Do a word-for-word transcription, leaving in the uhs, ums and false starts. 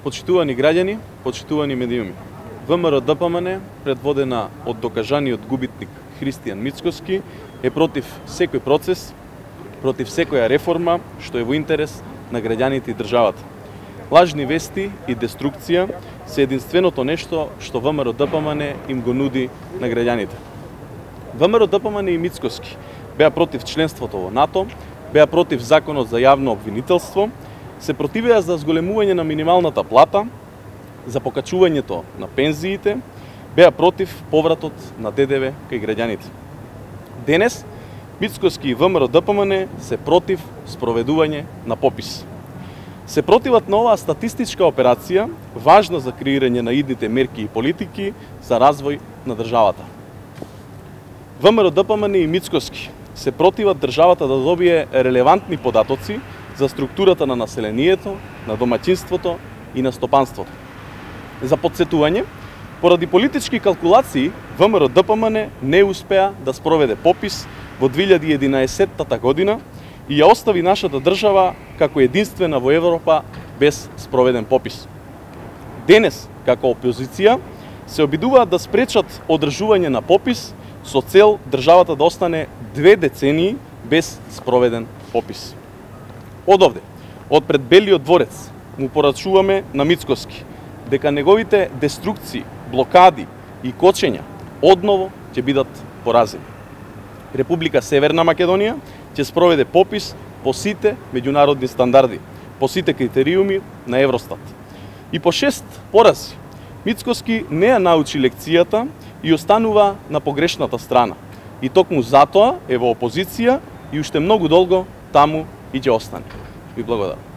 Почитувани граѓани, почитувани медиуми. ВМРО-ДПМН, предводена од докажаниот губитник Христијан Мицкоски, е против секој процес, против секоја реформа што е во интерес на граѓаните и државата. Лажни вести и деструкција се единственото нешто што ВМРО-ДПМН им го нуди на граѓаните. ВМРО-ДПМН и Мицкоски беа против членството во НАТО, беа против законот за јавно обвинителство, се противеа за зголемување на минималната плата, за покачувањето на пензиите, беа против повратот на ДДВ кај граѓаните. Денес, Мицкоски и ВМРО-ДПМН се против спроведување на попис. Се противат на оваа статистичка операција, важна за креирање на идните мерки и политики за развој на државата. ВМРО-ДПМН и Мицкоски се противат државата да добие релевантни податоци за структурата на населението, на домаќинството и на стопанството. За подсетување, поради политички калкулации, ВМРО-ДПМН не успеа да спроведе попис во две илјади и единаесетта година и ја остави нашата држава како единствена во Европа без спроведен попис. Денес, како опозиција, се обидуваат да спречат одржување на попис со цел државата да остане две децении без спроведен попис. Од овде, од пред Белиот дворец, му порачуваме на Мицкоски дека неговите деструкции, блокади и кочења одново ќе бидат поразени. Република Северна Македонија ќе спроведе попис по сите меѓународни стандарди, по сите критериуми на Евростат. И по шест порази, Мицкоски не ја научи лекцијата и останува на погрешната страна. И токму затоа е во опозиција и уште многу долго таму и ќе остане. Ви благодарам.